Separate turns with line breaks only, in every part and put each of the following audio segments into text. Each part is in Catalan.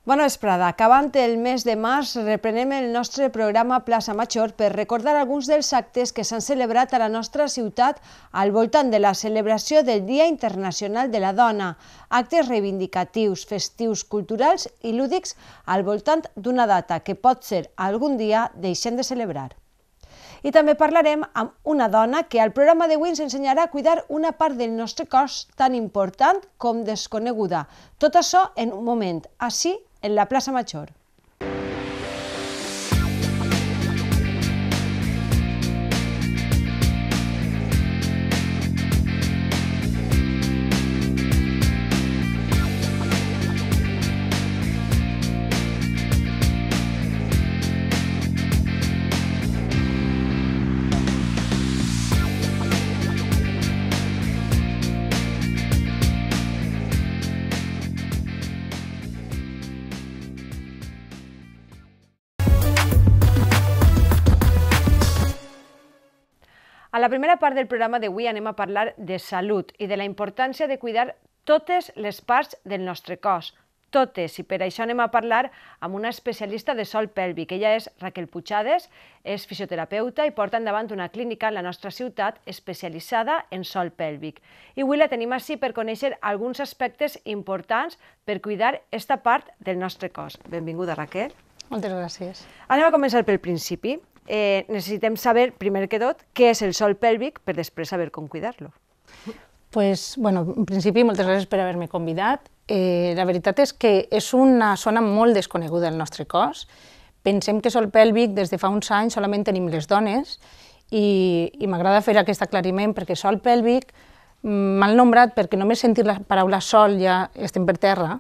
Bona vesprada. Acabant el mes de març, reprenem el nostre programa Plaça Major per recordar alguns dels actes que s'han celebrat a la nostra ciutat al voltant de la celebració del Dia Internacional de la Dona, actes reivindicatius, festius, culturals i lúdics al voltant d'una data que potser algun dia deixem de celebrar. I també parlarem amb una dona que al programa d'avui ens ensenyarà a cuidar una part del nostre cos tan important com desconeguda. Tot això en un moment, així, en la plaça Major. A la primera part del programa d'avui anem a parlar de salut i de la importància de cuidar totes les parts del nostre cos. Totes, i per això anem a parlar amb una especialista de sòl pèlvic. Ella és Raquel Puchades, és fisioterapeuta i porta endavant una clínica en la nostra ciutat especialitzada en sòl pèlvic. I avui la tenim així per conèixer alguns aspectes importants per cuidar aquesta part del nostre cos. Benvinguda, Raquel.
Moltes gràcies.
Anem a començar pel principi. Necessitem saber, primer que tot, què és el sòl pèlvic per després saber com cuidar-lo.
En principi, moltes gràcies per haver-me convidat. La veritat és que és una zona molt desconeguda del nostre cos. Pensem que sòl pèlvic des de fa uns anys solament tenim les dones i m'agrada fer aquest aclariment perquè sòl pèlvic, mal nombrat perquè només sentir la paraula sòl ja estem per terra,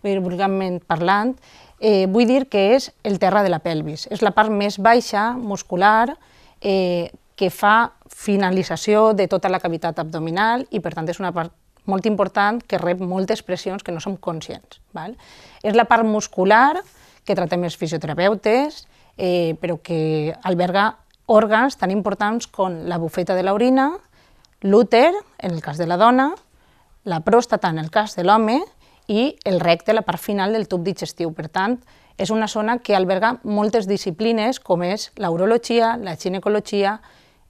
vulgarment parlant. Vull dir que és el terra de la pelvis. És la part més baixa, muscular, que fa finalització de tota la cavitat abdominal i, per tant, és una part molt important que rep moltes pressions que no som conscients. És la part muscular que tratem els fisioterapeutes, però que alberga òrgans tan importants com la bufeta de l'orina, l'úter, en el cas de la dona, la pròstata, en el cas de l'home, i el recte, la part final del tub digestiu. Per tant, és una zona que alberga moltes disciplines com és la urologia, la ginecologia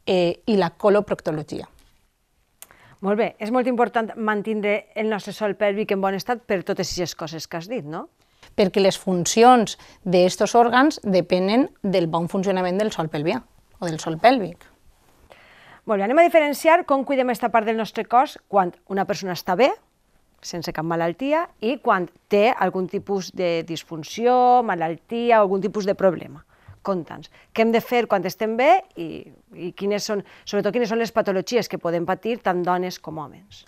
i la coloproctologia.
Molt bé, és molt important mantenir el nostre sòl pèlvic en bon estat per totes aquestes coses que has dit, no?
Perquè les funcions d'aquests òrgans depenen del bon funcionament del sòl pelvià o del sòl pèlvic.
Molt bé, anem a diferenciar com cuidem aquesta part del nostre cos quan una persona està bé, sense cap malaltia, i quan té algun tipus de disfunció, malaltia o algun tipus de problema. Conta'ns, què hem de fer quan estem bé i sobretot quines són les patologies que podem patir tant dones com homes.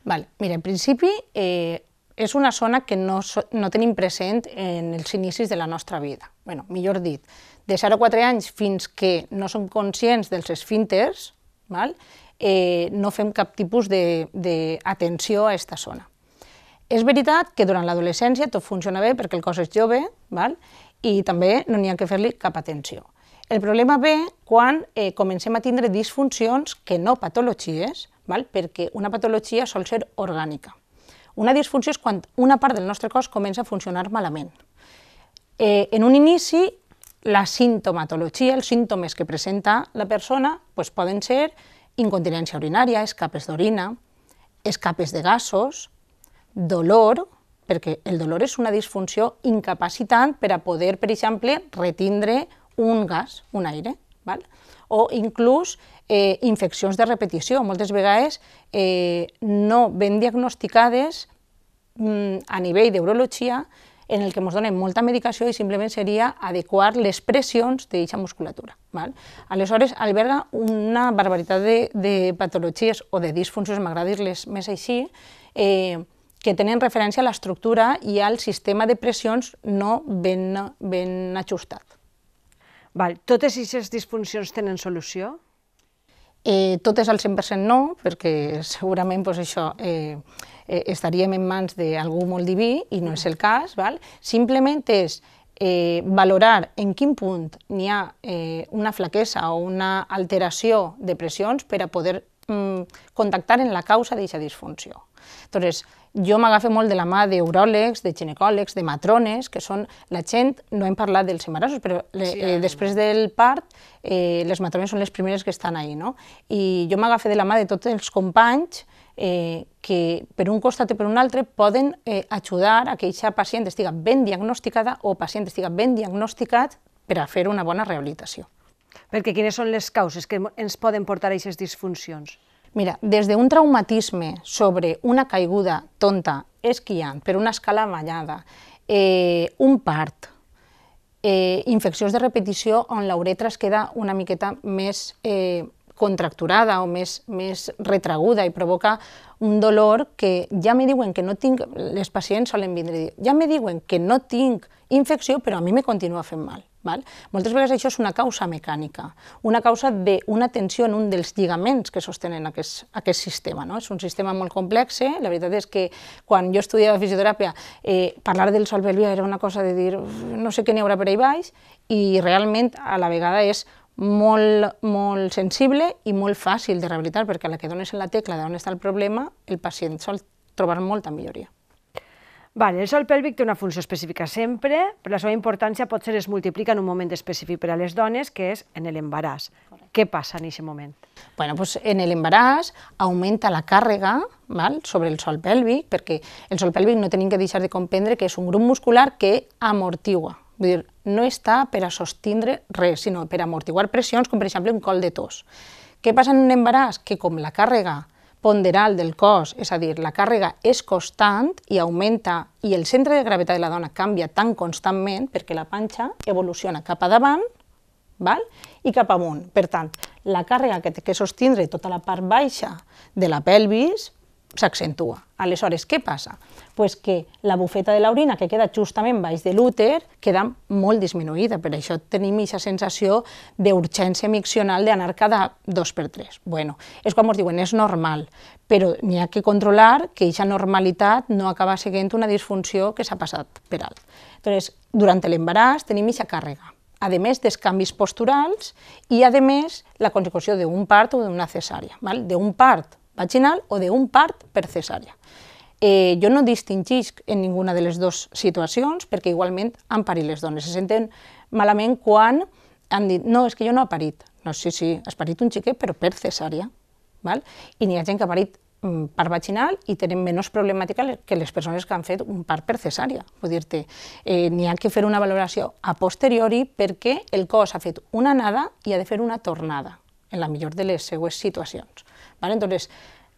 Mira, en principi és una zona que no tenim present en els inicis de la nostra vida. Millor dit, de 0 a 4 anys fins que no som conscients dels esfínters, no fem cap tipus d'atenció a aquesta zona. És veritat que durant l'adolescència tot funciona bé perquè el cos és jove i també no n'hi ha que fer-li cap atenció. El problema ve quan comencem a tindre disfuncions que no patologies, perquè una patologia sol ser orgànica. Una disfunció és quan una part del nostre cos comença a funcionar malament. En un inici, la sintomatologia, els símptomes que presenta la persona poden ser incontinència urinària, escapes d'orina, escapes de gasos, dolor, perquè el dolor és una disfunció incapacitant per a poder, per exemple, retindre un gas, un aire, o inclús infeccions de repetició, moltes vegades no ben diagnosticades a nivell d'urologia, en el que ens donen molta medicació i simplement seria adequar les pressions d'aquesta musculatura. Aleshores, alberga una barbaritat de patologies o de disfuncions, m'agrada dir-les més així, que tenen referència a l'estructura i al sistema de pressions no ben ajustat.
Totes aquestes disfuncions tenen solució?
Totes al 100% no, perquè segurament això estaríem en mans d'algú molt diví i no és el cas. Simplement és valorar en quin punt n'hi ha una flaquesa o una alteració de pressions per a poder contactar en la causa d'aquesta disfunció. Entonces, jo m'agafo molt de la mà d'uròlegs, de ginecòlegs, de matrones, que són la gent, no hem parlat dels embarassos, però després del part, les matrones són les primeres que estan ahí, no? I jo m'agafo de la mà de tots els companys que per un costat i per un altre poden ajudar a que aquesta pacient estigui ben diagnosticada o pacient estigui ben diagnosticat per a fer una bona rehabilitació.
Perquè quines són les causes que ens poden portar a aquestes disfuncions?
Mira, des d'un traumatisme sobre una caiguda tonta esquiant per una escala mallada, un part, infeccions de repetició on l'uretra es queda una miqueta més contracturada o més retraguda i provoca un dolor que ja me diuen que no tinc, les pacients solen vindre i dir, ja me diuen que no tinc infecció però a mi me continua fent mal. Moltes vegades això és una causa mecànica, una causa d'una tensió en un dels lligaments que sostenen aquest sistema. És un sistema molt complex, la veritat és que quan jo estudiava fisioteràpia parlar del sòl pelvià era una cosa de dir no sé què n'hi haurà per ahí baix i realment a la vegada és molt sensible i molt fàcil de rehabilitar perquè a la que dones en la tecla d'on està el problema el pacient sol trobar molta milloria.
El sòl pèlvic té una funció específica sempre, però la seva importància potser es multiplica en un moment específic per a les dones, que és en l'embaràs. Què passa en aquest moment?
En l'embaràs augmenta la càrrega sobre el sòl pèlvic, perquè el sòl pèlvic no tenim que deixar de comprendre que és un grup muscular que amortigua. Vull dir, no està per a sostindre res, sinó per amortiguar pressions, com per exemple un col de tos. Què passa en un embaràs? Que com la càrrega ponderal del cos, és a dir, la càrrega és constant i augmenta i el centre de gravetat de la dona canvia tan constantment perquè la panxa evoluciona cap a davant i cap amunt. Per tant, la càrrega que té que sostindre tota la part baixa de la pelvis s'accentua. Aleshores, què passa? Que la bufeta de l'orina, que queda justament baix de l'úter, queda molt disminuïda. Per això tenim aquesta sensació d'urgència miccional d'anar cada 2x3. És com ens diuen, és normal, però n'hi ha que controlar que aquesta normalitat no acaba sent una disfunció que s'ha passat per alt. Durant l'embaràs tenim aquesta càrrega, a més dels canvis posturals i a més la consecució d'un part o d'una cesària, d'un part vaginal o d'un part per cesària. Jo no distingisc en ninguna de les dues situacions perquè igualment han parit les dones. Se senten malament quan han dit no, és que jo no he parit. No, sí, has parit un xiquet però per cesària. I n'hi ha gent que ha parit part vaginal i tenen menys problemàtica que les persones que han fet un part per cesària. Vull dir-te, n'hi ha que fer una valoració a posteriori perquè el cos ha fet una anada i ha de fer una tornada, en la millor de les seues situacions. Entonces,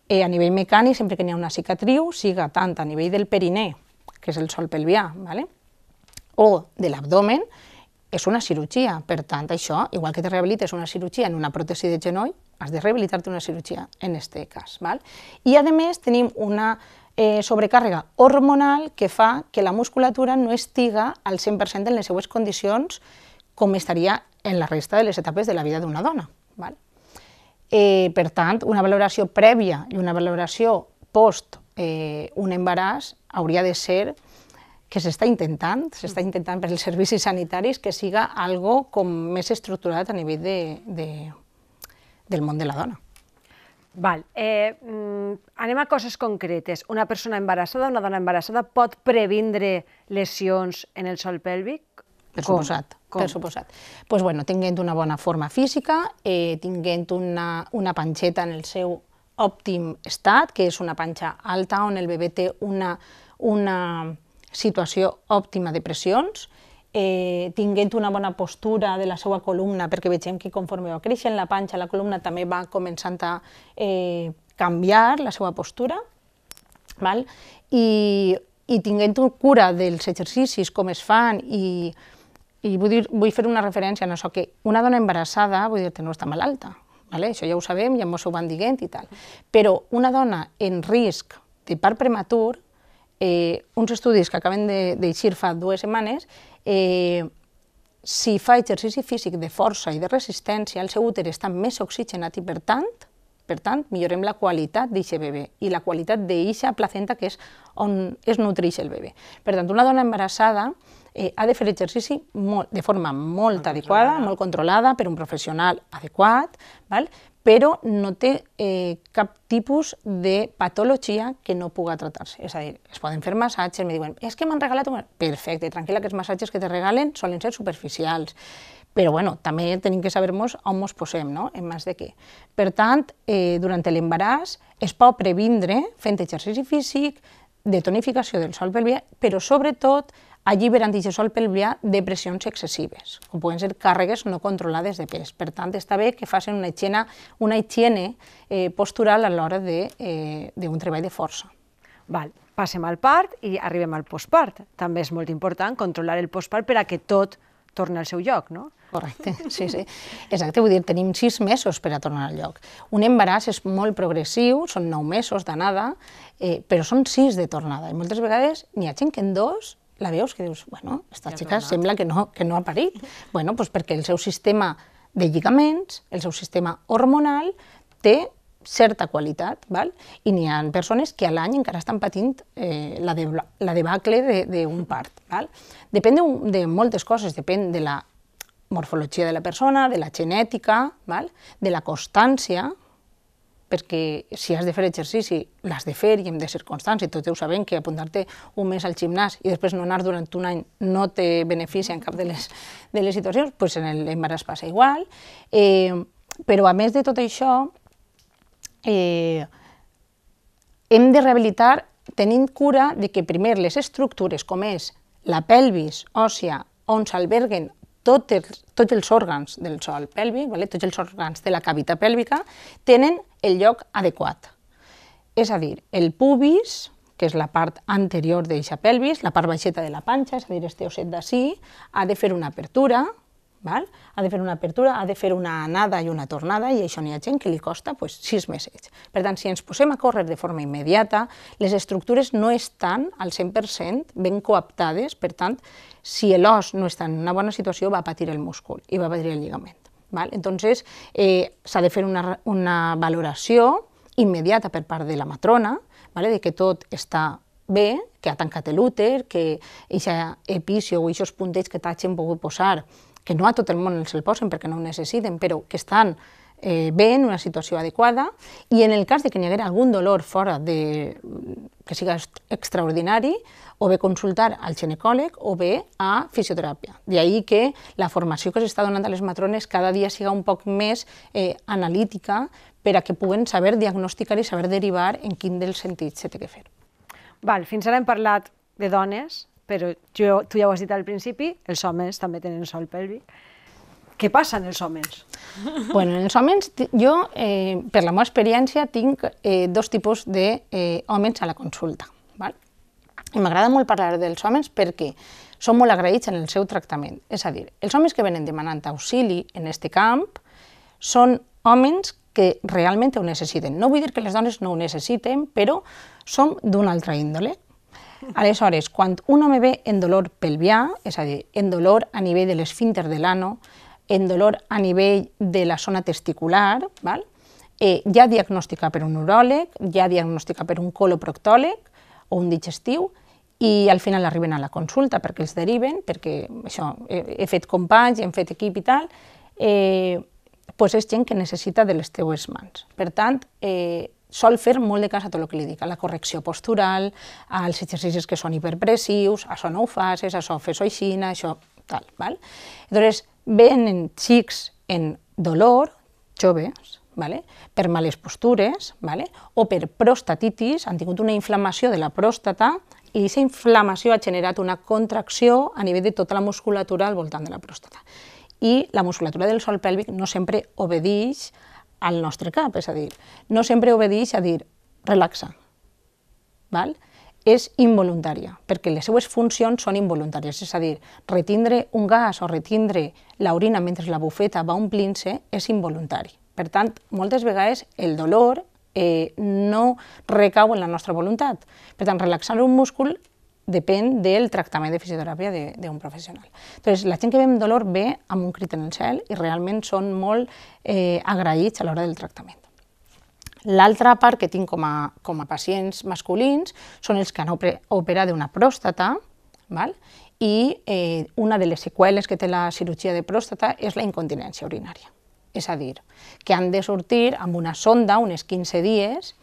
a nivell mecànic, sempre que n'hi ha una cicatriu, siga tant a nivell del perinè, que és el sòl pelvià, o de l'abdomen, és una cirurgia. Per tant, això, igual que te rehabilites una cirurgia en una pròtesi de genoll, has de rehabilitar-te una cirurgia en aquest cas. I, a més, tenim una sobrecàrrega hormonal que fa que la musculatura no estiga al 100% en les seues condicions com estaria en la resta de les etapes de la vida d'una dona. Per tant, una valoració prèvia i una valoració post un embaràs hauria de ser que s'està intentant per als servicis sanitaris que siga algo com més estructurat a nivell del món de la dona.
Anem a coses concretes. Una persona embarassada, una dona embarassada, pot previndre lesions en el sòl pèlvic?
Per suposat. Tinguent una bona forma física, tinguent una panxeta en el seu òptim estat, que és una panxa alta on el bebè té una situació òptima de pressions, tinguent una bona postura de la seva columna, perquè veiem que conforme va creixent la panxa, la columna també va començant a canviar la seva postura, i tinguent cura dels exercicis, com es fan, i vull fer una referència en això, que una dona embarassada, vull dir-te, no està malalta, això ja ho sabem, ja ens ho van dient i tal, però una dona en risc de part prematur, uns estudis que acaben d'eixir fa 2 setmanes, si fa exercici físic de força i de resistència, el seu úter està més oxigenat i per tant, millorem la qualitat d'aquest bebè i la qualitat d'aquesta placenta que és on es nutreix el bebè. Per tant, una dona embarassada ha de fer exercici de forma molt adequada, molt controlada per un professional adequat, però no té cap tipus de patologia que no pugui tractar-se. És a dir, es poden fer massatges, me diuen, és que m'han regalat un... Perfecte, tranquil·la, que els massatges que te regalen solen ser superficials, però bueno, també tenim que saber-nos on ens posem, no? En mans de què. Per tant, durant l'embaràs es pot previndre fent exercici físic, de tonificació del sòl pelvià, però sobretot alliberant d'aquest sòl pelvià de pressions excessives, com poden ser càrregues no controlades de pes. Per tant, està bé que facin una higiene postural a l'hora d'un treball de força.
Val. Passem al part i arribem al postpart. També és molt important controlar el postpart per a que tot torni al seu lloc, no?
Correcte, sí, sí. Exacte, vull dir, tenim 6 mesos per a tornar al lloc. Un embaràs és molt progressiu, són 9 mesos d'anada, però són 6 de tornada. I moltes vegades n'hi ha gent que en 2 la veus que dius, bueno, esta xica sembla que no ha parit. Bueno, doncs perquè el seu sistema de lligaments, el seu sistema hormonal, té certa qualitat, val? I n'hi ha persones que a l'any encara estan patint la debacle d'un part. Val? Depèn de moltes coses, depèn de la morfologia de la persona, de la genètica, val? De la constància, perquè si has de fer exercici, l'has de fer i hem de ser constants, i tots ho sabem que apuntar-te un mes al gimnàs i després no anar durant un any no te beneficia en cap de les situacions, doncs en l'embaràs passa igual, però a més de tot això, hem de rehabilitar tenint cura de que primer les estructures com és la pelvis òssia on s'alberguen tots els òrgans del sòl pèlvic, tots els òrgans de la cavitat pèlvica, tenen el lloc adequat. És a dir, el pubis, que és la part anterior d'aquesta pelvis, la part baixeta de la panxa, és a dir, este osset d'ací, ha de fer una apertura, ha de fer una apertura, ha de fer una anada i una tornada, i això n'hi ha gent que li costa 6 mesos. Per tant, si ens posem a córrer de forma immediata, les estructures no estan al 100% ben coaptades, per tant, si l'os no està en una bona situació, va patir el múscul i va patir el lligament. Entonces, s'ha de fer una valoració immediata per part de la matrona, de que tot està bé, que ha tancat l'úter, que aquest epicio o aquests puntets que t'hagin pogut posar, que no a tot el món els el posen perquè no ho necessiten, però que estan bé en una situació adequada, i en el cas de que n'hi hagués algun dolor fora que siga extraordinari, o bé consultar al ginecòleg o bé a fisioteràpia. D'ahí que la formació que s'està donant a les matrones cada dia siga un poc més analítica per a que puguen saber diagnosticar i saber derivar en quin dels sentits s'ha de fer.
Fins ara hem parlat de dones, però tu ja ho has dit al principi, els homes també tenen sòl pèlvic. Què passa en els homes?
En els homes, jo, per la meva experiència, tinc 2 tipus d'homes a la consulta. I m'agrada molt parlar dels homes perquè són molt agraïts en el seu tractament. És a dir, els homes que venen demanant auxili en aquest camp són homes que realment ho necessiten. No vull dir que les dones no ho necessiten, però som d'una altra índole. Aleshores, quan un home ve en dolor pelvià, és a dir, en dolor a nivell de l'esfínter de l'ano, en dolor a nivell de la zona testicular, ja diagnosticar per un uròleg, ja diagnosticar per un coloproctòleg o un digestiu, i al final arriben a la consulta perquè els deriven, perquè això, he fet companys, hem fet equip i tal, doncs és gent que necessita de les teues mans. Per tant, sol fer molt de cas a tot el que li dic, a la correcció postural, als exercicis que són hiperpressius, això no ho facis, això fes-ho així, això tal. Llavors, venen xics en dolor, joves, per males postures, o per prostatitis, han tingut una inflamació de la pròstata i aquesta inflamació ha generat una contracció a nivell de tota la musculatura al voltant de la pròstata. I la musculatura del sòl pèlvic no sempre obedeix al nostre cap, és a dir, no sempre obedeix a dir relaxa. És involuntària, perquè les seues funcions són involuntàries, és a dir, retindre un gas o retindre l'orina mentre la bufeta va omplint-se és involuntari. Per tant, moltes vegades el dolor no recau en la nostra voluntat. Per tant, relaxar un múscul depèn del tractament de fisioteràpia d'un professional. Llavors, la gent que ve amb dolor ve amb un crit en el cel i realment són molt agraïts a l'hora del tractament. L'altra part que tinc com a pacients masculins són els que han operat d'una pròstata, i una de les seqüeles que té la cirurgia de pròstata és la incontinència urinària. és a dir, que han de sortir amb una sonda unes 15 dies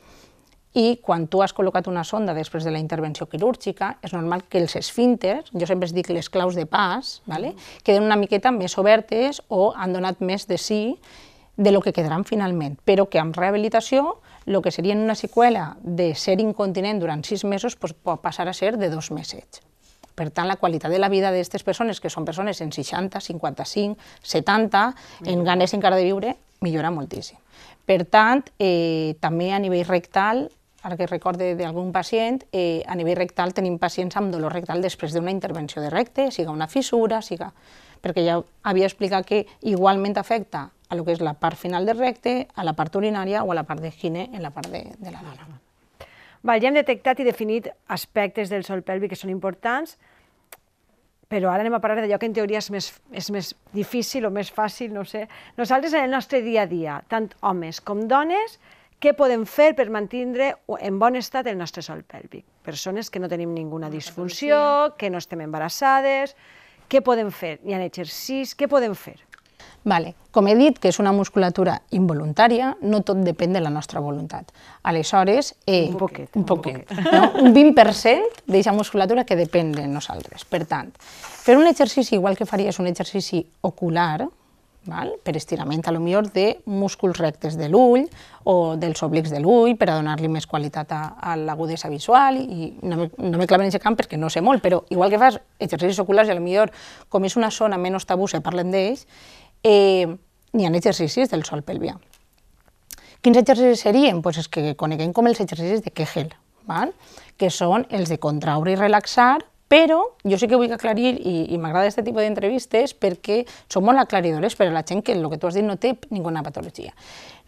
i quan tu has col·locat una sonda després de la intervenció quirúrgica, és normal que els esfínters, jo sempre es dic les claus de pas, queden una miqueta més obertes o han donat més de sí de lo que quedaran finalment, però que amb rehabilitació el que seria una seqüela de ser incontinent durant 6 mesos pot passar a ser de 2 mesos. Per tant, la qualitat de la vida d'aquestes persones, que són persones en 60, 55, 70, en ganes encara de viure, millora moltíssim. Per tant, també a nivell rectal, ara que recorde d'algun pacient, a nivell rectal tenim pacients amb dolor rectal després d'una intervenció de recte, siga una fissura, perquè ja havia explicat que igualment afecta a lo que és la part final del recte, a la part urinària o a la part de gine en la part de la lala.
Ja hem detectat i definit aspectes del sòl pèlvic que són importants, però ara anem a parlar d'allò que en teoria és més difícil o més fàcil, no sé. Nosaltres en el nostre dia a dia, tant homes com dones, què podem fer per mantenir en bon estat el nostre sòl pèlvic? Persones que no tenim ninguna disfunció, que no estem embarassades, què podem fer? Hi ha exercicis, què podem fer?
Com he dit, que és una musculatura involuntària, no tot depèn de la nostra voluntat. Aleshores, un 20% d'aquesta musculatura que depèn de nosaltres. Per tant, fer un exercici igual que faries un exercici ocular, per estirament potser de músculs rectes de l'ull o dels oblics de l'ull per a donar-li més qualitat a l'agudesa visual, i no me claven en aquest camp perquè no sé molt, però igual que fas exercicis oculars i potser com és una zona menys tabú se parlen d'ells, n'hi ha exercicis del sòl pelvià. Quins exercicis serien? És que coneguem com els exercicis de Kegel, que són els de contraure i relaxar, però jo sí que vull aclarir, i m'agrada aquest tipus d'entrevistes perquè són molt aclaridores per a la gent que el que tu has dit no té ninguna patologia.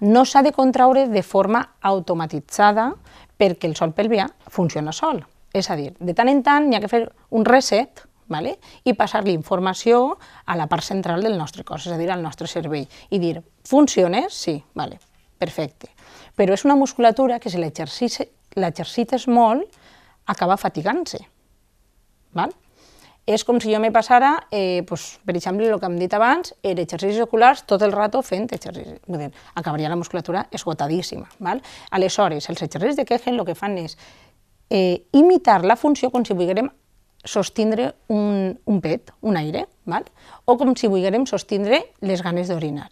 No s'ha de contraure de forma automatitzada perquè el sòl pelvià funciona sol. És a dir, de tant en tant n'hi ha que fer un reset i passar-li informació a la part central del nostre cos, és a dir, al nostre cervell, i dir, funciona? Sí, perfecte. Però és una musculatura que si l'exercites molt, acaba fatigant-se. És com si jo me passara, per exemple, el que hem dit abans, exercicis oculars tot el rato fent exercicis. Acabaria la musculatura esgotadíssima. Aleshores, els exercicis de Kegel el que fan és imitar la funció com si volguérem sostindre un pet, un aire, o com si volguérem sostindre les ganes d'orinar.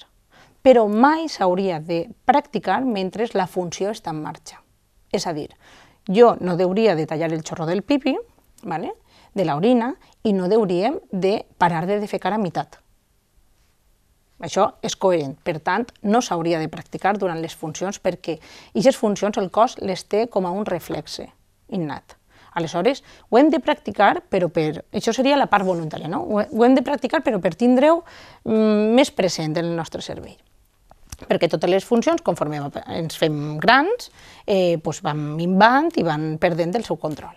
Però mai s'hauria de practicar mentre la funció està en marxa. És a dir, jo no hauria de tallar el xorro del pipi, de l'orina, i no hauríem de parar de defecar a meitat. Això és coherent, per tant, no s'hauria de practicar durant les funcions perquè aquestes funcions el cos les té com a un reflexe innat. Aleshores, ho hem de practicar, però això seria la part voluntària, no? Ho hem de practicar, però per tindre-ho més present en el nostre cervell. Perquè totes les funcions, conforme ens fem grans, van minvant i van perdent el seu control.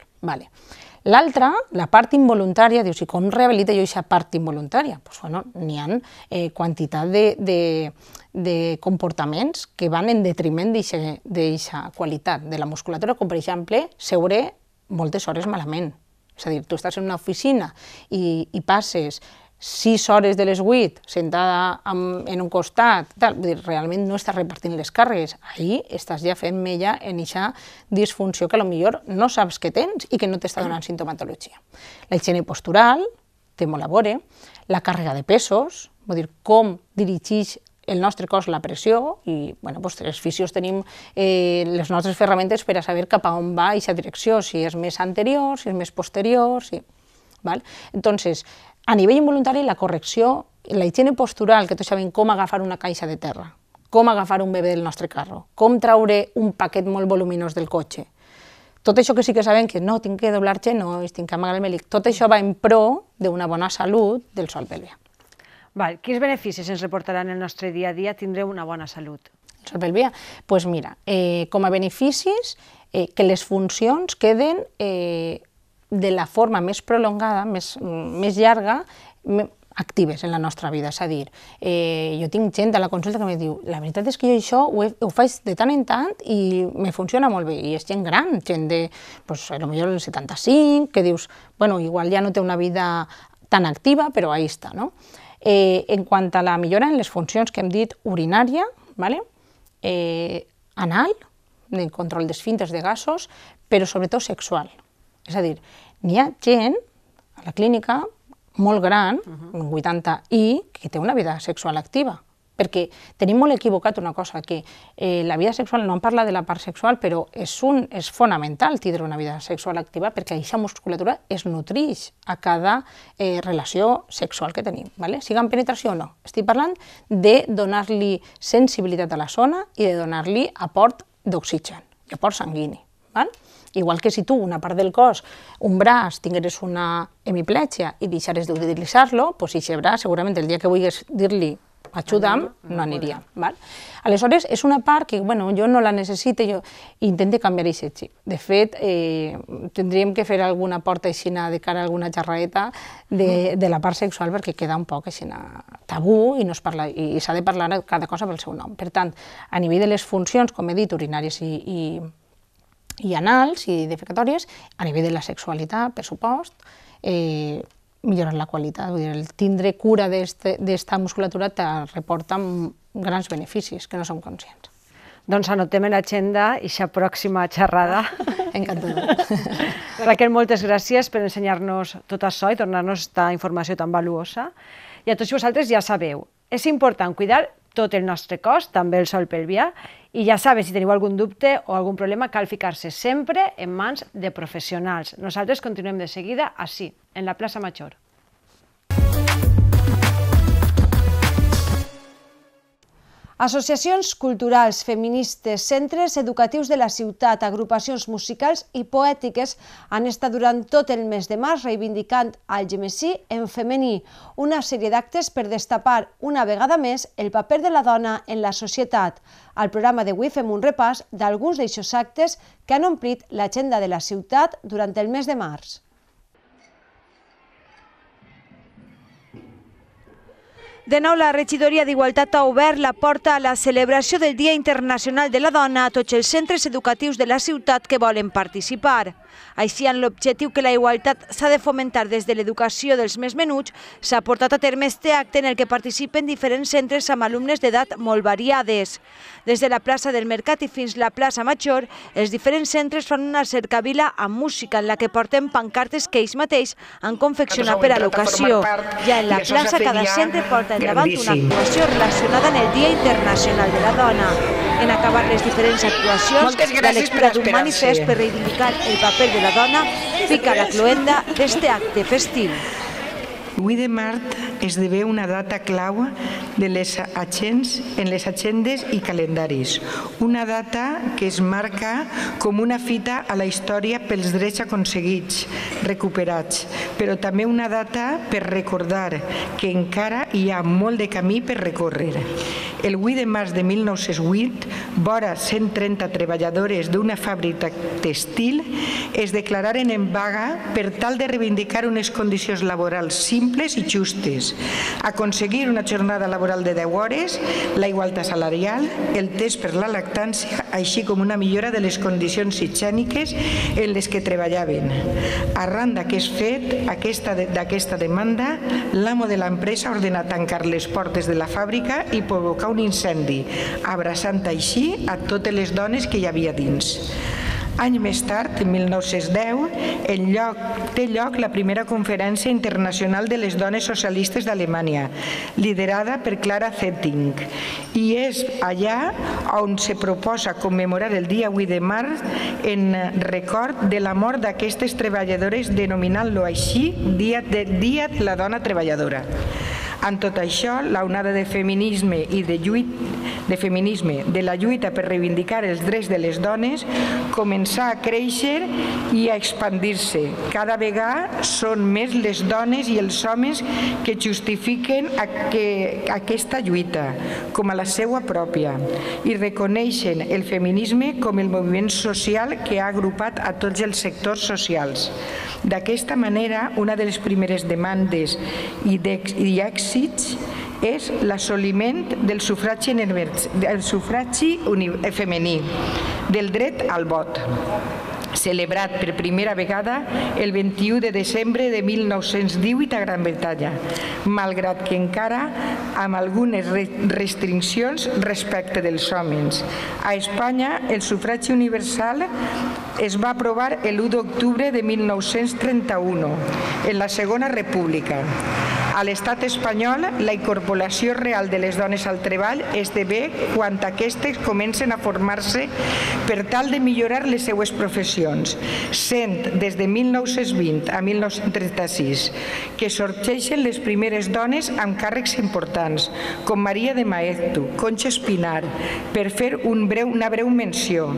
L'altra, la part involuntària, dius, i com rehabilita jo aquesta part involuntària? N'hi ha quantitat de comportaments que van en detriment d'aquesta qualitat de la musculatura, com per exemple, seure moltes hores malament. És a dir, tu estàs en una oficina i passes 6 hores de les 8 sentada en un costat, realment no estàs repartint les càrregues, ahir estàs ja fent mella en aquesta disfunció que potser no saps que tens i que no t'està donant sintomatologia. La higiene postural té molt a veure, la càrrega de pesos, vull dir, com dirigeix el nostre cos la pressió, i els fisios tenim les nostres ferramentes per a saber cap a on va aquesta direcció, si és més anterior, si és més posterior, Entonces, a nivell involuntari, la correcció, la higiene postural, que tots sabem com agafar una caixa de terra, com agafar un bebè del nostre carro, com traure un paquet molt voluminós del cotxe, tot això que sí que sabem que no, tinc que doblar genolls, tinc que amagar el melic, tot això va en pro d'una bona salut del sòl pelvià.
Quins beneficis ens reportaran el nostre dia a dia tindre una bona salut?
El sòl pelvià? Doncs mira, com a beneficis, que les funcions queden de la forma més prolongada, més llarga, actives en la nostra vida. És a dir, jo tinc gent a la consulta que em diu, la veritat és que jo això ho faig de tant en tant i me funciona molt bé. I és gent gran, gent de, potser el 75, que dius, igual ja no té una vida tan activa, però ahí està, no? En quant a la millora en les funcions que hem dit, urinària, anal, de control d'esfínters de gasos, però sobretot sexual. És a dir, n'hi ha gent a la clínica molt gran, 80 i, que té una vida sexual activa. Perquè tenim molt equivocat una cosa, que la vida sexual, no en parla de la part sexual, però és fonamental tindre una vida sexual activa perquè aquesta musculatura es nutreix a cada relació sexual que tenim, siga en penetració o no. Estic parlant de donar-li sensibilitat a la zona i de donar-li aport d'oxigen i aport sanguini. Igual que si tu, una part del cos, un braç, tingueres una hemiplegia i deixares d'utilitzar-lo, doncs aquest braç, segurament el dia que vulguis dir-li ajuda'm, no aniria. Aleshores, és una part que jo no la necessito, jo intento canviar aquest xip. De fet, tindríem que fer alguna porta així de cara a alguna xerraeta de la part sexual perquè queda un poc així tabú i s'ha de parlar cada cosa pel seu nom. Per tant, a nivell de les funcions, com he dit, urinàries i anals i defecatòries, a nivell de la sexualitat, per supost, millorar la qualitat, el tindre cura d'esta musculatura te reporta grans beneficis que no som conscients.
Doncs anotem en l'agenda aquesta pròxima xerrada.
Encantada.
Raquel, moltes gràcies per ensenyar-nos tot això i donar-nos aquesta informació tan valuosa. I a tots vosaltres ja sabeu, és important cuidar tot el nostre cos, també el sòl pelvià, i ja sabeu, si teniu algun dubte o algun problema, cal ficar-se sempre en mans de professionals. Nosaltres continuem de seguida ací, en la plaça Major. Associacions culturals, feministes, centres educatius de la ciutat, agrupacions musicals i poètiques han estat durant tot el mes de març reivindicant Algemesí en femení, una sèrie d'actes per destapar una vegada més el paper de la dona en la societat. Al programa d'avui fem un repàs d'alguns d'aquests actes que han omplit l'agenda de la ciutat durant el mes de març. De nou, la regidoria d'Igualtat ha obert la porta a la celebració del Dia Internacional de la Dona a tots els centres educatius de la ciutat que volen participar. Així, amb l'objectiu que la igualtat s'ha de fomentar des de l'educació dels més menuts, s'ha portat a terme este acte en el que participen diferents centres amb alumnes d'edat molt variades. Des de la plaça del Mercat i fins la plaça Major, els diferents centres fan una cercavila amb música en la que porten pancartes que ells mateixos han confeccionat per a l'ocasió. Ja en la plaça, cada centre porta endavant una actuació relacionada amb el Dia Internacional de la Dona. En acabar les diferents actuacions, la lectura d'un manifest per reivindicar el paper de la dona fica la cloenda d'este acte festiu.
Avui de març esdevé una data clau en les agendes i calendaris. Una data que es marca com una fita a la història pels drets aconseguits, recuperats, però també una data per recordar que encara hi ha molt de camí per recórrer. El 8 de març de 1908, vora 130 treballadores d'una fàbrica textil es declararen en vaga per tal de reivindicar unes condicions laborals simples i justes, aconseguir una jornada laboral de 10 hores, la igualtat salarial, el test per la lactància, així com una millora de les condicions higièniques en les que treballaven. Arran d'aquest fet, d'aquesta demanda, l'amo de l'empresa ordena tancar les portes de la fàbrica i provocar un incendi, abraçant així a totes les dones que hi havia dins. Anys més tard, en 1910, té lloc la primera Conferència Internacional de les Dones Socialistes d'Alemanya, liderada per Clara Zetkin, i és allà on se proposa commemorar el dia 8 de març en record de la mort d'aquestes treballadores, denominant-lo així Dia de la Dona Treballadora. En tot això, l'onada de feminisme i de la lluita per reivindicar els drets de les dones començà a créixer i a expandir-se. Cada vegada són més les dones i els homes que justifiquen aquesta lluita com a la seva pròpia i reconeixen el feminisme com el moviment social que ha agrupat a tots els sectors socials. D'aquesta manera, una de les primeres demandes i èxits és l'assoliment del sufragi femení, del dret al vot. celebrat per primera vegada el 21 de desembre de 1918 a Gran Bretanya, malgrat que encara amb algunes restriccions respecte dels homes. A Espanya, el sufragi universal es va aprovar l'1 d'octubre de 1931, en la Segona República. A l'estat espanyol, la incorporació real de les dones al treball esdevé quan aquestes comencen a formar-se per tal de millorar les seues professions, sent des de 1920 a 1936 que sorgeixen les primeres dones amb càrrecs importants, com Maria de Maeztu, Concha Espinar, per fer una breu menció.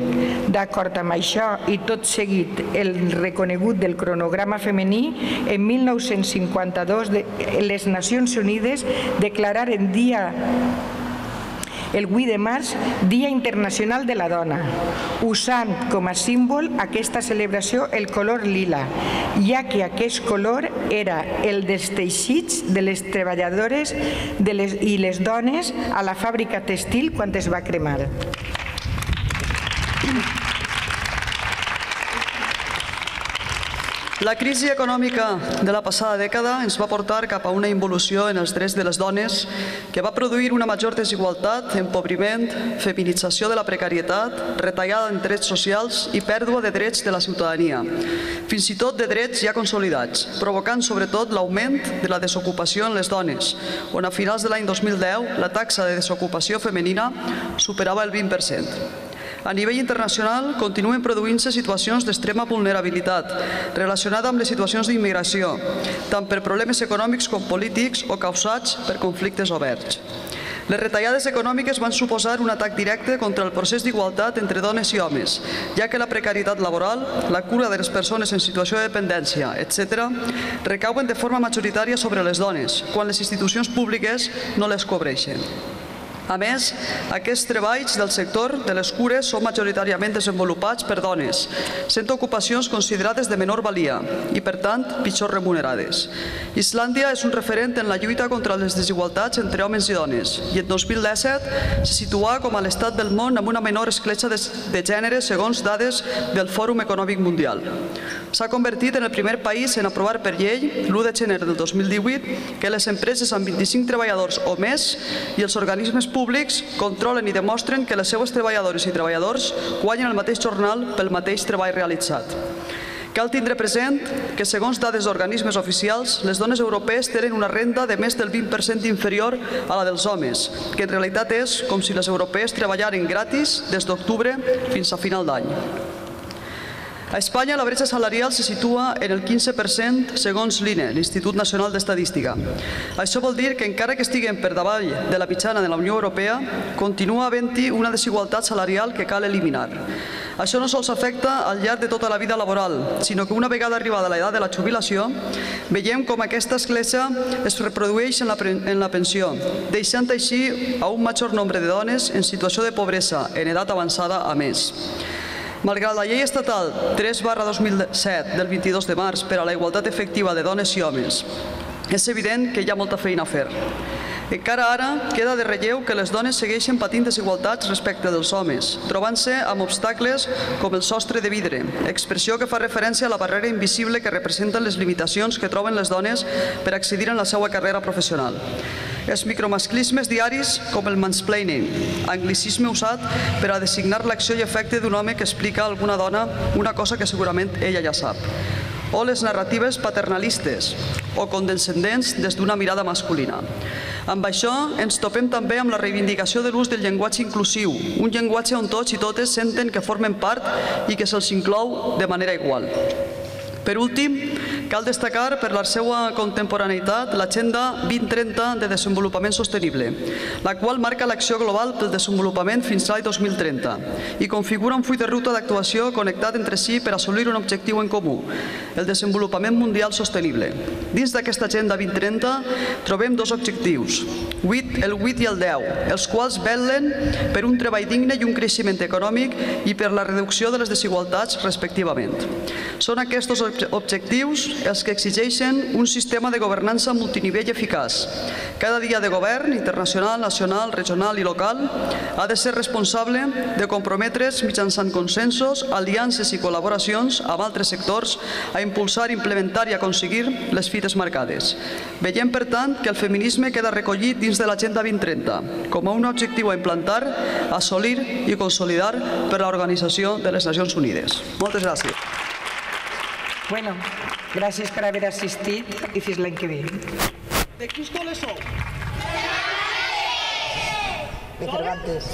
D'acord amb això i tot seguit el reconegut del cronograma femení, en 1952 les Nacions Unides declararen el 8 de març Dia Internacional de la Dona, usant com a símbol aquesta celebració el color lila, ja que aquest color era el dels teixits de les treballadores i les dones a la fàbrica tèxtil quan es va cremar.
La crisi econòmica de la passada dècada ens va portar cap a una involució en els drets de les dones que va produir una major desigualtat, empobriment, feminització de la precarietat, retallada en drets socials i pèrdua de drets de la ciutadania, fins i tot de drets ja consolidats, provocant sobretot l'augment de la desocupació en les dones, on a finals de l'any 2010 la taxa de desocupació femenina superava el 20%. A nivell internacional, continuen produint-se situacions d'extrema vulnerabilitat relacionada amb les situacions d'immigració, tant per problemes econòmics com polítics o causats per conflictes oberts. Les retallades econòmiques van suposar un atac directe contra el procés d'igualtat entre dones i homes, ja que la precarietat laboral, la cura de les persones en situació de dependència, etc., recauen de forma majoritària sobre les dones, quan les institucions públiques no les cobreixen. A més, aquests treballs del sector de les cures són majoritàriament desenvolupats per dones, sent ocupacions considerades de menor valia i, per tant, pitjor remunerades. Islàndia és un referent en la lluita contra les desigualtats entre homes i dones i en 2017 se situà com a l'estat del món amb una menor escletxa de gènere segons dades del Fòrum Econòmic Mundial. S'ha convertit en el primer país en aprovar per llei, l'1 de gener del 2018, que les empreses amb 25 treballadors o més i els organismes públics controlen i demostren que les seues treballadores i treballadors guanyen el mateix jornal pel mateix treball realitzat. Cal tindre present que, segons dades d'organismes oficials, les dones europees tenen una renda de més del 20% inferior a la dels homes, que en realitat és com si les europees treballaren gratis des d'octubre fins a final d'any. A Espanya la bretxa salarial se situa en el 15% segons l'INE, l'Institut Nacional d'Estadística. Això vol dir que encara que estiguem per davall de la mitjana de la Unió Europea, continua havent-hi una desigualtat salarial que cal eliminar. Això no sols afecta al llarg de tota la vida laboral, sinó que una vegada arribada l'edat de la jubilació, veiem com aquesta escletxa es reprodueix en la pensió, deixant així a un major nombre de dones en situació de pobresa en edat avançada a més. Malgrat la llei estatal 3/2007 del 22 de març per a la igualtat efectiva de dones i homes, és evident que hi ha molta feina a fer. Encara ara queda de relleu que les dones segueixen patint desigualtats respecte dels homes, trobant-se amb obstacles com el sostre de vidre, expressió que fa referència a la barrera invisible que representen les limitacions que troben les dones per accedir en la seva carrera professional. Els micromasclismes diaris com el mansplaining, anglicisme usat per a designar l'acció i efecte d'un home que explica a alguna dona una cosa que segurament ella ja sap. O les narratives paternalistes o condescendents des d'una mirada masculina. Amb això ens topem també amb la reivindicació de l'ús del llenguatge inclusiu, un llenguatge on tots i totes senten que formen part i que se'ls inclou de manera igual. Per últim, cal destacar per la seva contemporaneïtat l'Agenda 2030 de Desenvolupament Sostenible, la qual marca l'acció global pel desenvolupament fins a l'any 2030 i configura un full de ruta d'actuació connectat entre si per assolir un objectiu en comú, el desenvolupament mundial sostenible. Dins d'aquesta Agenda 2030 trobem dos objectius, el 8 i el 10, els quals vetllen per un treball digne i un creixement econòmic i per la reducció de les desigualtats respectivament. Són aquests objectius els que exigeixen un sistema de governança multinivell eficaç. Cada dia de govern, internacional, nacional, regional i local, ha de ser responsable de comprometre's mitjançant consensos, aliances i col·laboracions amb altres sectors a impulsar, implementar i aconseguir les fites marcades. Veiem, per tant, que el feminisme queda recollit dins de l'Agenda 2030 com a un objectiu a implantar, assolir i consolidar per l'Organització de les Nacions Unides. Moltes gràcies.
Bueno, gràcies per haver assistit i fins l'any que ve.
De quina escola sou?
De Cervantes.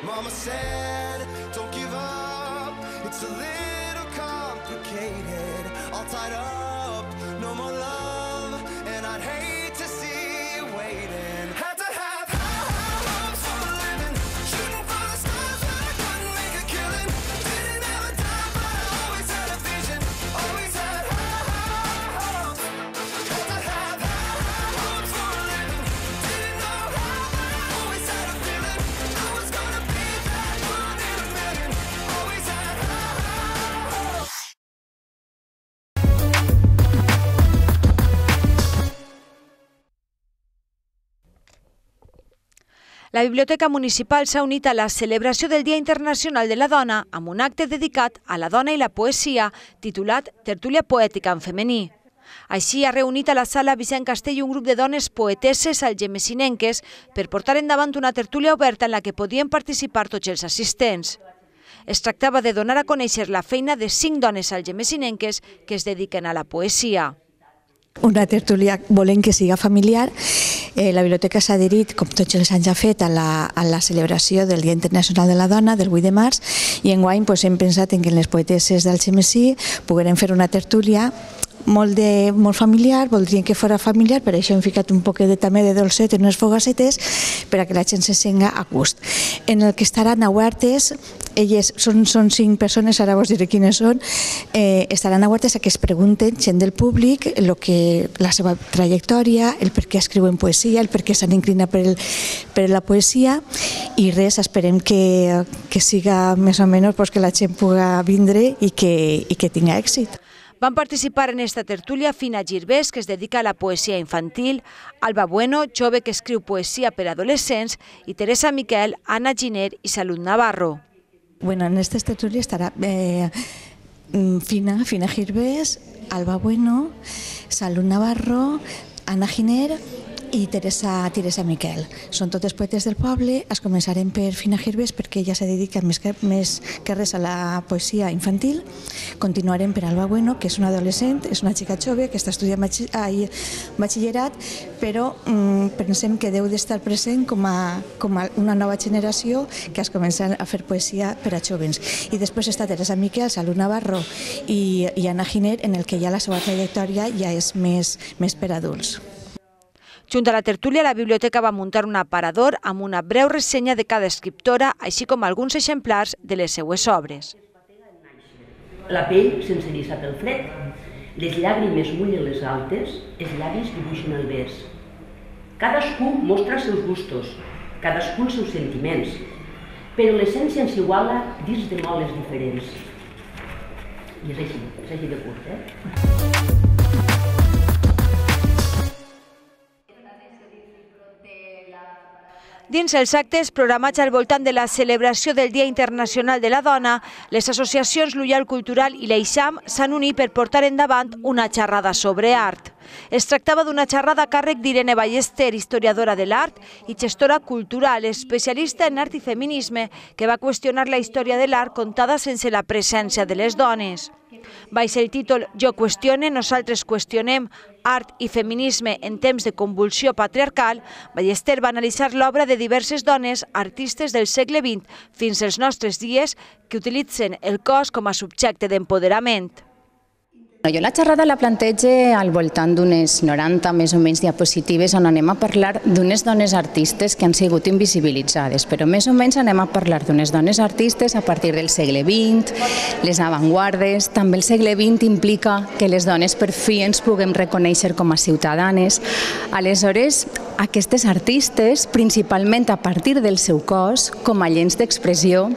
Mama said, don't give up, it's a little complicated, all tied up, no more love, and I'd hate to see you waiting. Had to have high hopes for a living, shooting for the stars but I couldn't make a killing, didn't have a dime but I always had a vision, always had high hopes. Had to have high hopes for a living, didn't know how but I always had a feeling, I was gonna be that one in a million, always had high hopes.
La Biblioteca Municipal s'ha unit a la celebració del Dia Internacional de la Dona amb un acte dedicat a la dona i la poesia titulat Tertúlia Poètica en femení. Així ha reunit a la sala Vicent Castell un grup de dones poetesses algemesinenques per portar endavant una tertúlia oberta en la que podien participar tots els assistents. Es tractava de donar a conèixer la feina de 5 dones algemesinenques que es dediquen a la poesia.
Una tertúlia volem que siga familiar. La biblioteca s'ha adherit, com tots els anys ha fet, a la celebració del Dia Internacional de la Dona, del 8 de març, i enguany hem pensat en que les poetesses d'Algemesí pogueren fer una tertúlia molt familiar, voldrien que fos familiar, per això hem ficat un poc també de dolcet en unes fogassetes per a que la gent se senga a gust. En el que estaran obertes, elles són 5 persones, ara vos diré quines són, estaran obertes a que es pregunten gent del públic la seva trajectòria, el per què escriuen poesia, el per què s'han inclinat per la poesia, i res, esperem que siga més o menys que la gent pugui vindre i que tingui èxit.
Van participar en esta tertúlia Fina Girbés, que es dedica a la poesia infantil, Alba Bueno, jove que escriu poesia per a adolescents, i Teresa Miquel, Anna Giner i Salut Navarro.
En aquesta tertúlia estarà Fina Girbés, Alba Bueno, Salut Navarro, Anna Giner i Teresa Miquel. Són totes poetes del poble. Es començarem per Fina Girbés perquè ella s'ha dedicat més que res a la poesia infantil. Continuarem per Alba Bueno, que és una adolescent, és una xica jove que està estudiant batxillerat, però pensem que deu d'estar present com a una nova generació que es comença a fer poesia per a jovens. I després està Teresa Miquel, Salut Navarro i Anna Giner, en el que ja la seva trajectòria ja és més per adults.
Junt a la tertúlia, la biblioteca va muntar un aparador amb una breu ressenya de cada escriptora, així com alguns exemplars de les seues obres.
La pell sense lliçar pel fred, les llàgrimes mullen les galtes, els llavis dibuixen el vers. Cadascú mostra els seus gustos, cadascú els seus sentiments, però l'essència ens iguala dins de moles diferents. I és així de curt,
Dins els actes programats al voltant de la celebració del Dia Internacional de la Dona, les associacions L'Ullal Cultural i l'Eixam s'han unit per portar endavant una xerrada sobre art. Es tractava d'una xerrada a càrrec d'Irene Ballester, historiadora de l'art i gestora cultural, especialista en art i feminisme, que va qüestionar la història de l'art contada sense la presència de les dones. Baix el títol Jo qüestione, nosaltres qüestionem, art i feminisme en temps de convulsió patriarcal, Ballester va analitzar l'obra de diverses dones, artistes del segle XX fins als nostres dies, que utilitzen el cos com a subjecte d'empoderament.
Jo la xerrada la plantege al voltant d'unes 90 més o menys diapositives on anem a parlar d'unes dones artistes que han sigut invisibilitzades, però més o menys anem a parlar d'unes dones artistes a partir del segle XX, les avantguardes. També el segle XX implica que les dones per fi ens puguem reconèixer com a ciutadanes. Aleshores, aquestes artistes, principalment a partir del seu cos, com a lents d'expressió,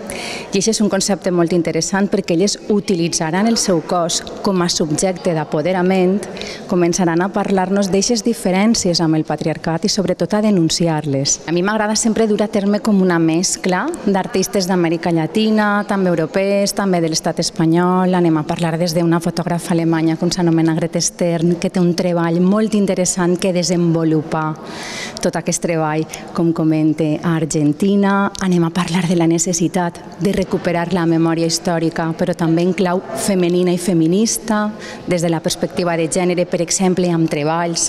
i això és un concepte molt interessant perquè elles utilitzaran el seu cos com a subjecte d'apoderament, començaran a parlar-nos d'eixes diferències amb el patriarcat i sobretot a denunciar-les. A mi m'agrada sempre dur a terme com una mescla d'artistes d'Amèrica Llatina, també europees, també de l'estat espanyol. Anem a parlar des d'una fotògrafa alemanya que s'anomena Grete Stern, que té un treball molt interessant que desenvolupa tot aquest treball, com comente, a Argentina. Anem a parlar de la necessitat de recuperar la memòria històrica, però també en clau femenina i feminista, des de la perspectiva de gènere, per exemple, amb treballs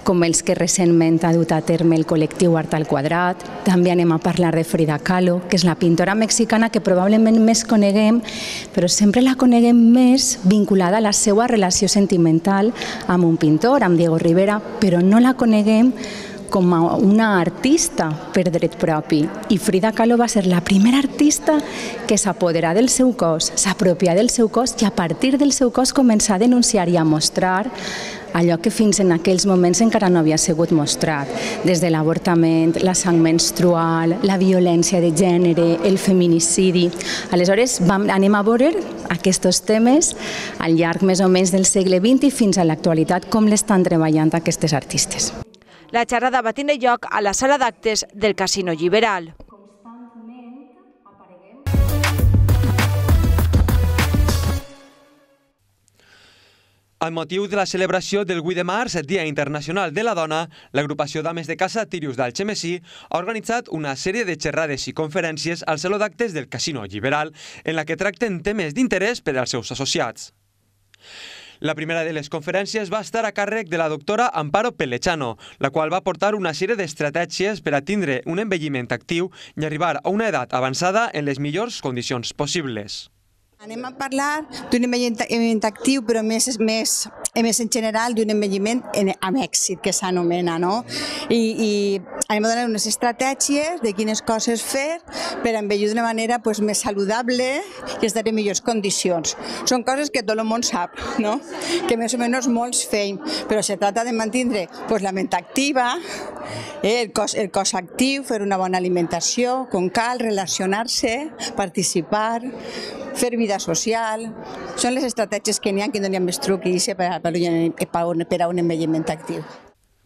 com els que recentment ha dut a terme el col·lectiu Art al Quadrat. També anem a parlar de Frida Kahlo, que és la pintora mexicana que probablement més coneguem, però sempre la coneguem més vinculada a la seva relació sentimental amb un pintor, amb Diego Rivera, però no la coneguem com a una artista per dret propi. I Frida Kahlo va ser la primera artista que s'apoderà del seu cos, s'apropià del seu cos i a partir del seu cos començà a denunciar i a mostrar allò que fins en aquells moments encara no havia sigut mostrat, des de l'avortament, la sang menstrual, la violència de gènere, el feminicidi. Aleshores anem a veure aquests temes al llarg més o menys del segle XX i fins a l'actualitat, com l'estan treballant aquestes artistes.
La xerrada va tindre lloc a la sala d'actes del Casino Lliberal.
Amb motiu de la celebració del 8 de març, Dia Internacional de la Dona, l'agrupació Dames de Casa Tirius d'Algemesí ha organitzat una sèrie de xerrades i conferències al Saló d'Actes del Casino Lliberal, en la que tracten temes d'interès per als seus associats. La primera de les conferències va estar a càrrec de la doctora Amparo Pelechano, la qual va aportar una sèrie d'estratègies per a tindre un envelliment actiu i arribar a una edat avançada en les millors condicions possibles.
Anem a parlar d'un envelliment actiu, però més en general d'un envelliment amb èxit, que s'anomena, no? I anem a donar unes estratègies de quines coses fer per envellir d'una manera més saludable i estar en millors condicions. Són coses que tot el món sap, no? Que més o menys molts feim, però se trata de mantenir la ment activa, el cos actiu, fer una bona alimentació, com cal, relacionar-se, participar, fer vida social. Són les estratègies que n'hi ha que donen més truc per a un envelliment actiu.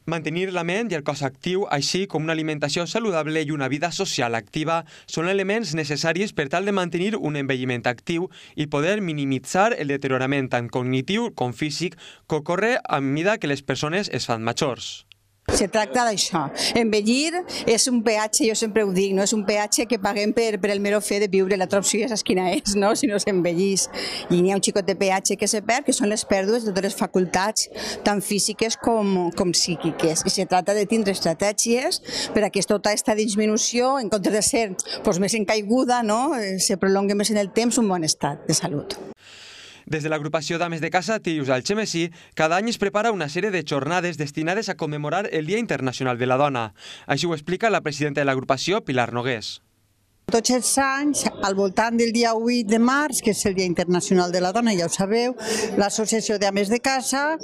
Mantenir la ment i el cos actiu, així com una alimentació saludable i una vida social activa, són elements necessaris per tal de mantenir un envelliment actiu i poder minimitzar el deteriorament tant cognitiu com físic que ocorre a mesura que les persones es fan majors.
Se tracta d'això. Envellir és un peatge, jo sempre ho dic, no? És un peatge que paguem per el mero fet de viure. L'altra opció ja saps quina és, no? Si no s'envellís. I n'hi ha un xicot de peatge que se perd, que són les pèrdues de totes les facultats, tant físiques com psíquiques. I se tracta de tindre estratègies per a que tota aquesta disminució, en comptes de ser més encaiguda, se prolongui més en el temps un bon estat de salut.
Des de l'agrupació Dames de Casa Tirius d'Algemesí, cada any es prepara una sèrie de jornades destinades a commemorar el Dia Internacional de la Dona. Així ho explica la presidenta de l'agrupació, Pilar Nogués.
Tots els anys, al voltant del dia 8 de març, que és el Dia Internacional de la Dona, ja ho sabeu, l'Associació d'Ames de Casa,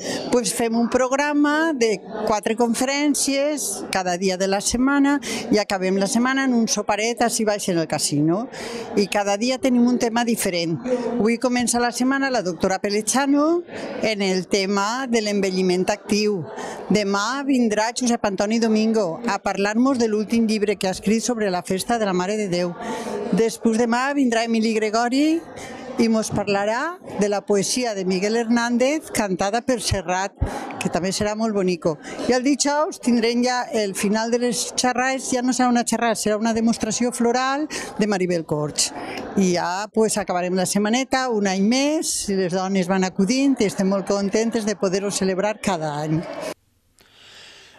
fem un programa de 4 conferències cada dia de la setmana i acabem la setmana en un soparet així baix en el casino. I cada dia tenim un tema diferent. Avui comença la setmana la doctora Pelechano en el tema de l'envelliment actiu. Demà vindrà Josep Antoni Domingo a parlar-nos de l'últim llibre que ha escrit sobre la festa de la Mare de Déu. Després demà vindrà Emili Gregori i ens parlarà de la poesia de Miguel Hernández cantada per Serrat, que també serà molt bonico. I el dijous tindrem ja el final de les xerrades, ja no serà una xerrada, serà una demostració floral de Maribel Corts. I ja acabarem la setmaneta, un any més, les dones van acudint i estem molt contentes de poder-ho celebrar cada any.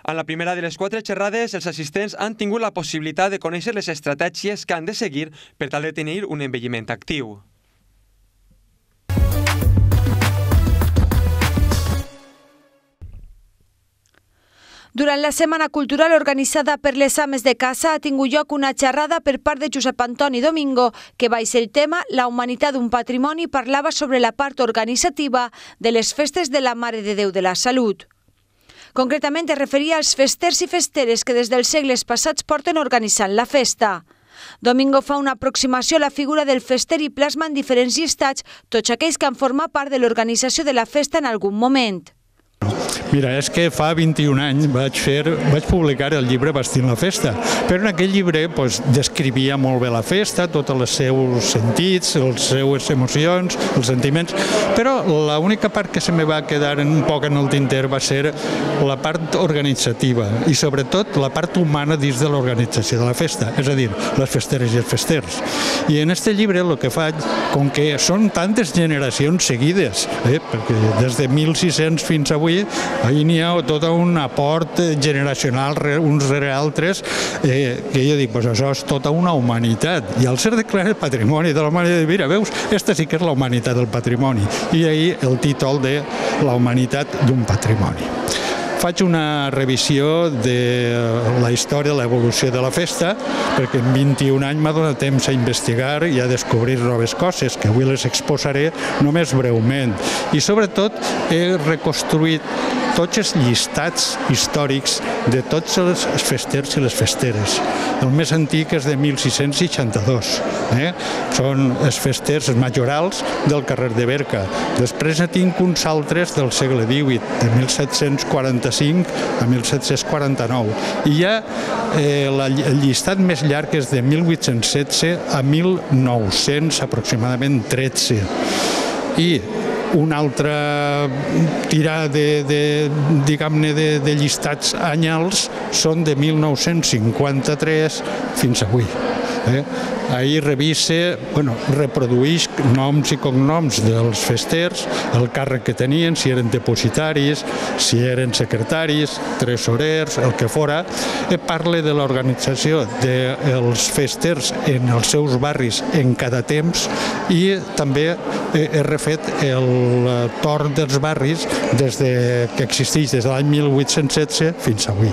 En la primera de les 4 xerrades, els assistents han tingut la possibilitat de conèixer les estratègies que han de seguir per tal de tenir un envelliment actiu.
Durant la Setmana Cultural organitzada per les Ames de Casa ha tingut lloc una xerrada per part de Josep Antoni Domingo que baix el tema La humanitat d'un patrimoni parlava sobre la part organitzativa de les festes de la Mare de Déu de la Salut. Concretament es referia als festers i festeres que des dels segles passats porten organitzant la festa. Domingo fa una aproximació a la figura del fester i plasma en diferents llistats tots aquells que han format part de l'organització de la festa en algun moment.
Mira, és que fa 21 anys vaig publicar el llibre Vestint la festa, però en aquell llibre descrivia molt bé la festa, tots els seus sentits, les seues emocions, els sentiments, però l'única part que se me va quedar un poc en el tinter va ser la part organitzativa i sobretot la part humana dins de l'organització de la festa, és a dir, les festeres i els festers. I en aquest llibre el que faig, com que són tantes generacions seguides, perquè des de 1600 fins avui, ahir n'hi ha tot un aport generacional uns rere altres que jo dic, això és tota una humanitat. I al ser declarat patrimoni de la Mare de Déu, mira, veus, aquesta sí que és la humanitat del patrimoni. I ahir el títol de La humanitat d'un patrimoni. Faig una revisió de la història, l'evolució de la festa, perquè en 21 anys m'ha donat temps a investigar i a descobrir noves coses, que avui les exposaré només breument. I sobretot he reconstruït tots els llistats històrics de tots els festers i les festeres. El més antic és de 1662. Són els festers majorals del carrer de Berca. Després tinc uns altres del segle XVIII, de 1745 a 1749. I ja el llistat més llarg és de 1816 a 1900, aproximadament 13. I un altre tirà de llistats anyals són de 1953 fins avui. Ahir reproduïx noms i cognoms dels festers, el càrrec que tenien, si eren depositaris, si eren secretaris, tresorers, el que fora. Parla de l'organització dels festers en els seus barris en cada temps i també he refet el torn dels barris des que existeix des de l'any 1816 fins avui.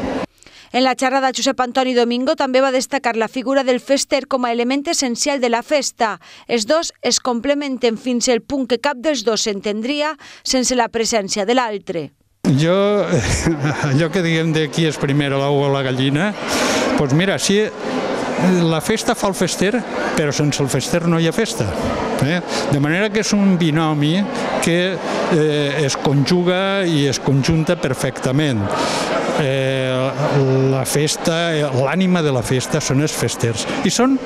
En la xerrada, Josep Antoni Domingo també va destacar la figura del fester com a element essencial de la festa. Els dos es complementen fins al punt que cap dels dos s'entendria sense la presència de l'altre.
Allò que diguem de qui és primer l'ou o la gallina, doncs mira, si la festa fa el fester, però sense el fester no hi ha festa. De manera que és un binomi que es conjuga i es conjunta perfectament. La festa, l'ànima de la festa són els festers i són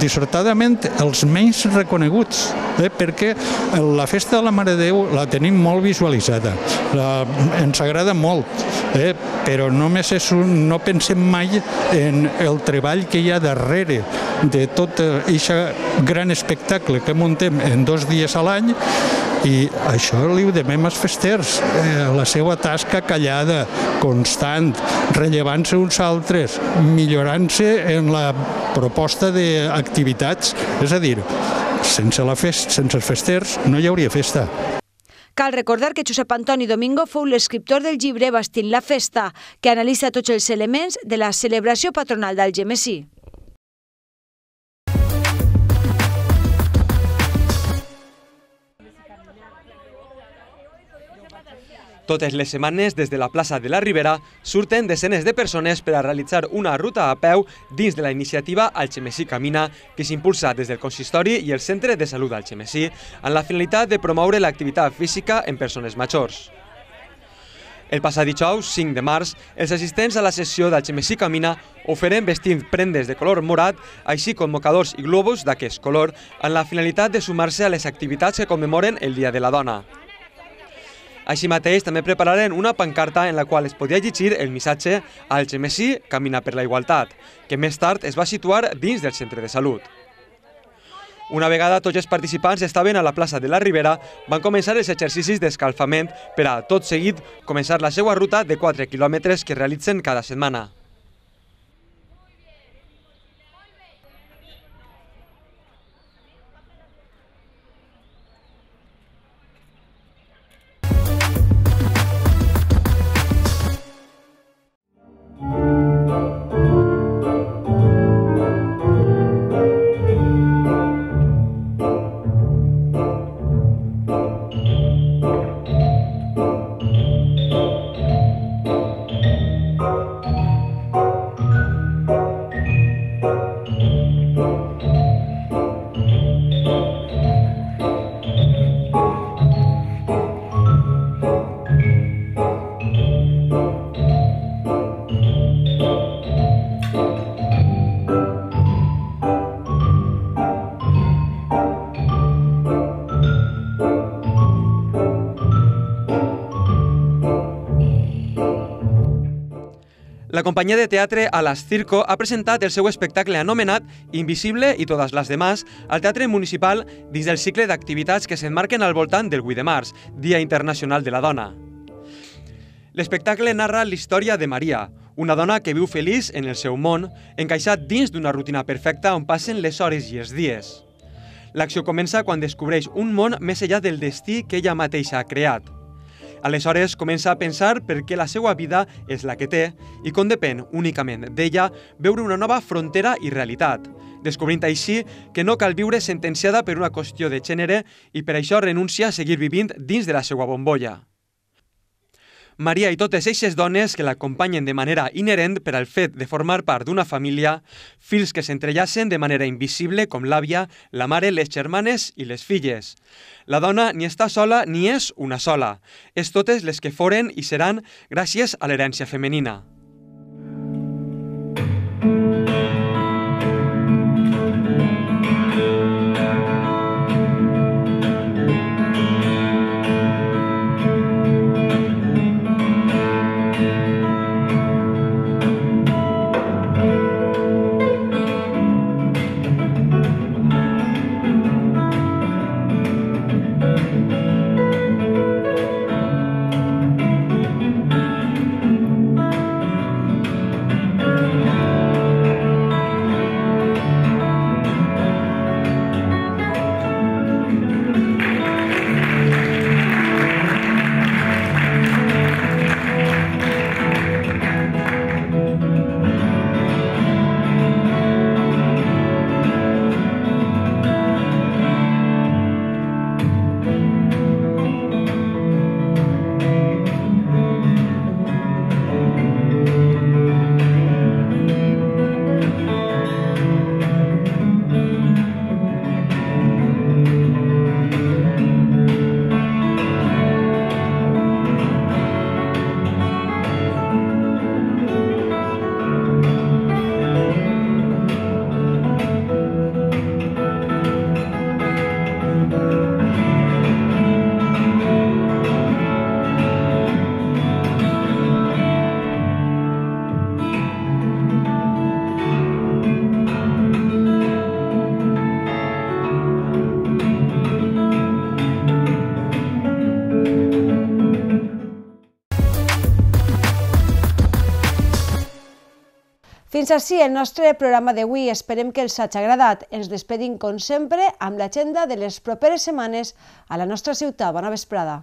dissortadament els menys reconeguts, perquè la festa de la Mare de Déu la tenim molt visualitzada, ens agrada molt, però només no pensem mai en el treball que hi ha darrere de tot aquest gran espectacle que muntem en 2 dies a l'any. I això li ho devem als festers, la seva tasca callada, constant, rellevant-se uns altres, millorant-se en la proposta d'activitats. És a dir, sense els festers no hi hauria festa.
Cal recordar que Josep Antoni Domingo fou l'escriptor del llibre Vestint la festa, que analitza tots els elements de la celebració patronal d'Algemesí.
Totes les setmanes, des de la plaça de la Ribera, surten desenes de persones per a realitzar una ruta a peu dins de la iniciativa Algemesí Camina, que s'impulsa des del Consistori i el Centre de Salut d'Algemesí, amb la finalitat de promoure l'activitat física en persones majors. El passat dijous, 5 de març, els assistents a la sessió d'Algemesí Camina oferen vestint prendes de color morat, així com mocadors i globus d'aquest color, amb la finalitat de sumar-se a les activitats que commemoren el Dia de la Dona. Així mateix, també prepararen una pancarta en la qual es podia llegir el missatge Algemesí camina per la igualtat, que més tard es va situar dins del centre de salut. Una vegada tots els participants estaven a la plaça de la Ribera, van començar els exercicis d'escalfament per a, tot seguit, començar la seva ruta de 4 quilòmetres que realitzen cada setmana. La companyia de teatre Alas Circo ha presentat el seu espectacle anomenat Invisible i totes les demás al Teatre Municipal dins del cicle d'activitats que s'emmarquen al voltant del 8 de març, Dia Internacional de la Dona. L'espectacle narra la història de Maria, una dona que viu feliç en el seu món, encaixat dins d'una rutina perfecta on passen les hores i els dies. L'acció comença quan descobreix un món més enllà del destí que ella mateixa ha creat. Aleshores comença a pensar per què la seva vida és la que té i com depèn únicament d'ella veure una nova frontera i realitat, descobrint així que no cal viure sentenciada per una qüestió de gènere i per això renuncia a seguir vivint dins de la seva bombolla. Maria i totes eixes dones que l'acompanyen de manera inherent per al fet de formar part d'una família, fils que s'entrellacen de manera invisible com l'àvia, la mare, les germanes i les filles. La dona ni està sola ni és una sola. És totes les que foren i seran gràcies a l'herència femenina. Fins així el nostre programa d'avui. Esperem que els hagi agradat. Ens despedim, com sempre, amb l'agenda de les properes setmanes a la nostra ciutat. Bona vesprada.